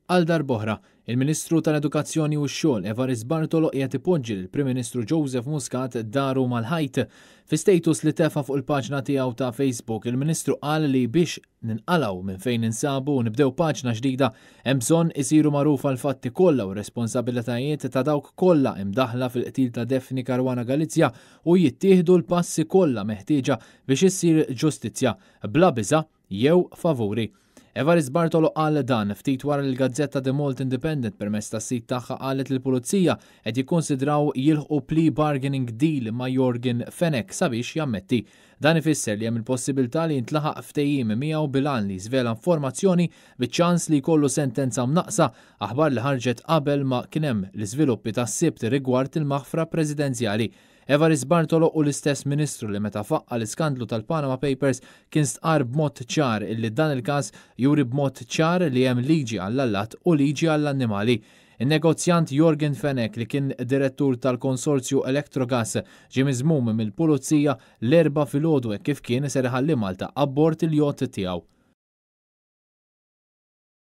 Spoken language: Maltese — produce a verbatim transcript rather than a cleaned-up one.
Għal darb'oħra, il-Ministru tal-Edukazzjoni u x-Xogħol Evarist Bartolo qiegħed ipoġġi lill-Prim Ministru Joseph Muscat daru mal-ħajt. Fi status li tefa' fuq il-paġna tiegħu ta' Facebook, il-Ministru qal li biex ninqalgħu minn fejn ninsabu u nibdew paġna ġdida hemm bżonn isiru magħrufa l-fatti kollha u responsabilitajiet ta' dawk kollha imdaħla fil-qtil ta' Daphne Caruana Galizia u jittieħdu l-passi kollha meħtieġa biex issir ġustizzja bla biża' jew favuri. Evarist Bartolo qal dan ftit wara li l-gazzetta The Malta Independent permezz tas-sit tagħha qalet li l-pulizija qed jikkonsidraw jilħqu plea bargaining deal ma' Yorgen Fenech sabiex jammetti. Dan ifisser li hemm il-possibilità li jintlaħaq ftehim miegħu bil-għan li jiżvela informazzjoni biċ-ċans li jkollu sentenza mnaqsa, aħbar li ħarġet qabel ma kien hemm l-iżviluppi tas-Sibt rigward il-maħfra presidenzjali. Evarist Bartolo hu l-istess ministru li meta faqqa l-iskandlu tal-Panama Papers kien stqar b'mod ċar illi dan il-każ juri b'mod ċar li hemm liġi għall-allat u liġi għall-annimali. In-negozjant Yorgen Fenech, li kien direttur tal-konsorzju Electrogas, ġie miżmum mill-pulizija l-Erbgħa filgħodu kif kien ser iħalli Malta abbord il-jott tiegħu.